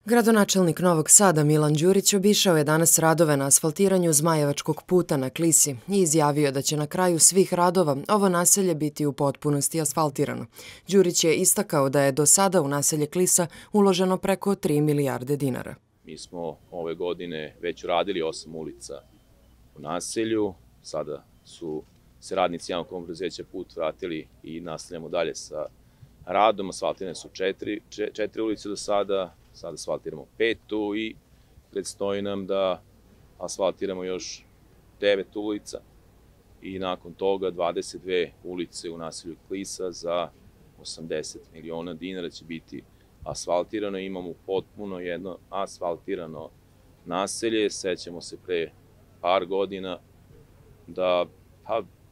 Gradonačelnik Novog Sada Milan Đurić obišao je danas radove na asfaltiranju Zmajevačkog puta na Klisi i izjavio da će na kraju svih radova ovo naselje biti u potpunosti asfaltirano. Đurić je istakao da je do sada u naselje Klisa uloženo preko 3 milijarde dinara. Mi smo ove godine već uradili 8 ulica u naselju, sada su se radnici javnog komunalnog preduzeća Put vratili i nastavljamo dalje sa radom. Asfaltirane su četiri ulice do sada asfaltiramo 5 i predstoji nam da asfaltiramo još 9 ulica i nakon toga 22 ulice u naselju Klisa za 80 miliona dinara će biti asfaltirano. Imamo potpuno jedno asfaltirano naselje. Sećamo se pre par godina da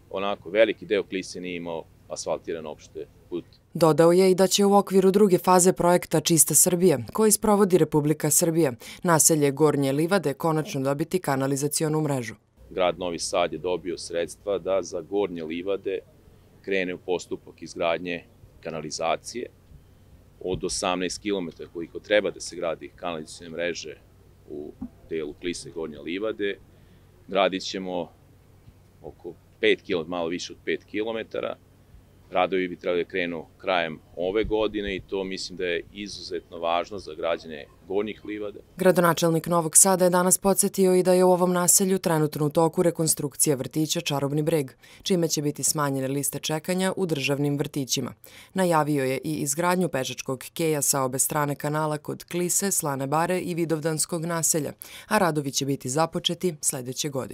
onako veliki deo Klise nije imao asfaltiran opšte put. Dodao je i da će u okviru druge faze projekta Čista Srbija, koji sprovodi Republika Srbija, naselje Gornje Livade konačno dobiti kanalizacionu mrežu. Grad Novi Sad je dobio sredstva da za Gornje Livade krene u postupak izgradnje kanalizacije od 18 km koliko treba da se gradi kanalizacione mreže u delu Klise i Gornje Livade. Gradit ćemo oko 5 km, malo više od 5 km. Radovi bi trebali da krenu krajem ove godine i to mislim da je izuzetno važno za građane Gornjih Livada. Gradonačelnik Novog Sada je danas podsjetio i da je u ovom naselju trenutno u toku rekonstrukcija vrtića Čarobni breg, čime će biti smanjene liste čekanja u državnim vrtićima. Najavio je i izgradnju pešačkog keja sa obe strane kanala kod Klise, Slane Bare i Vidovdanskog naselja, a radovi će biti započeti sledeće godine.